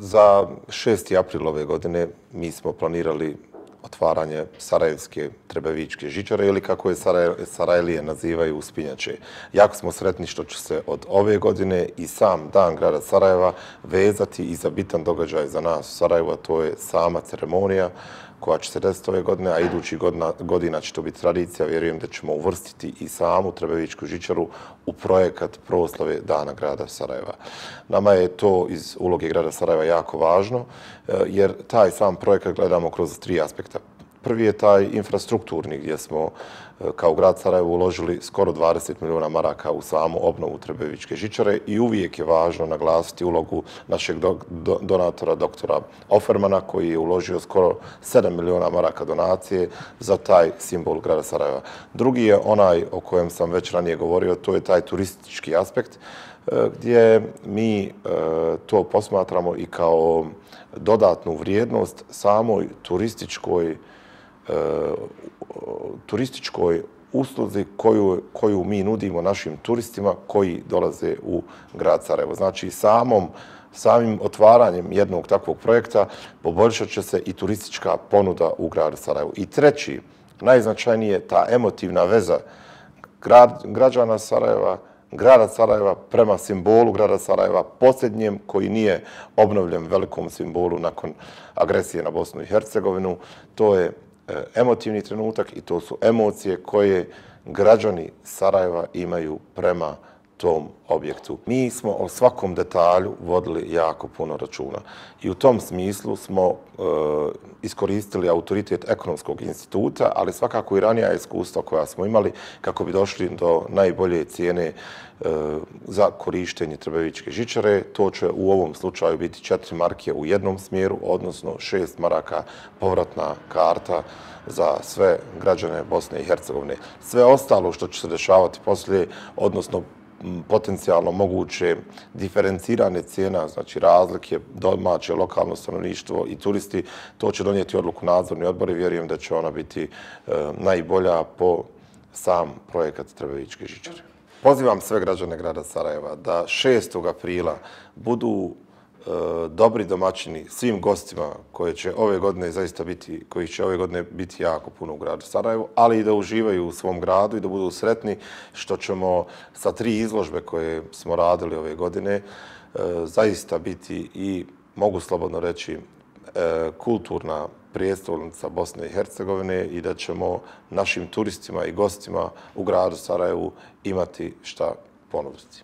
Za 6. april ove godine mi smo planirali otvaranje Sarajevske Trebevičke žičare ili kako je Sarajlije nazivaju uspinjače. Jako smo sretni što će se od ove godine i sam dan grada Sarajeva vezati i za bitan događaj za nas u Sarajevu, a to je sama ceremonija koja će se desiti ove godine, a idućih godina će to biti tradicija. Vjerujem da ćemo uvrstiti i samu Trebevičku žičaru u projekat proslave Dana grada Sarajeva. Nama je to iz uloge grada Sarajeva jako važno, jer taj sam projekat gledamo kroz 3 aspekta. Prvi je taj infrastrukturni, gdje smo kao grad Sarajevo uložili skoro 20 milijuna maraka u samu obnovu Trebevičke žičare i uvijek je važno naglasiti ulogu našeg donatora, doktora Offermana, koji je uložio skoro 7 milijuna maraka donacije za taj simbol grada Sarajeva. Drugi je onaj o kojem sam već ranije govorio, to je taj turistički aspekt, gdje mi to posmatramo i kao dodatnu vrijednost samoj turističkoj usluzi koju mi nudimo našim turistima koji dolaze u grad Sarajevo. Znači, samim otvaranjem jednog takvog projekta poboljšat će se i turistička ponuda u gradu Sarajevu. I treći, najznačajnije je ta emotivna veza građana Sarajeva, grada Sarajeva prema simbolu grada Sarajeva, posljednjem koji nije obnovljen velikom simbolu nakon agresije na Bosnu i Hercegovinu. To je emotivni trenutak i to su emocije koje građani Sarajeva imaju prema tom objektu. Mi smo o svakom detalju vodili jako puno računa i u tom smislu smo iskoristili autoritet Ekonomskog instituta, ali svakako i ranija iskustva koja smo imali kako bi došli do najbolje cijene za korištenje Trebevičke žičare. To će u ovom slučaju biti 4 marke u jednom smjeru, odnosno 6 maraka povratna karta za sve građane Bosne i Hercegovine. Sve ostalo što će se dešavati poslije, odnosno potencijalno moguće diferencirane cijena, znači razlike domaće, lokalno stanovništvo i turisti, to će donijeti odluku nadzorni odbor i vjerujem da će ona biti najbolja po sam projekat Trebevičke žičare. Pozivam sve građane grada Sarajeva da 6. aprila budu dobri domaćini svim gostima koji će ove godine biti jako puno u gradu Sarajevu, ali i da uživaju u svom gradu i da budu sretni što ćemo sa 3 izložbe koje smo radili ove godine zaista biti i, mogu slobodno reći, kulturna prijestolnica Bosne i Hercegovine i da ćemo našim turistima i gostima u gradu Sarajevu imati šta ponuditi.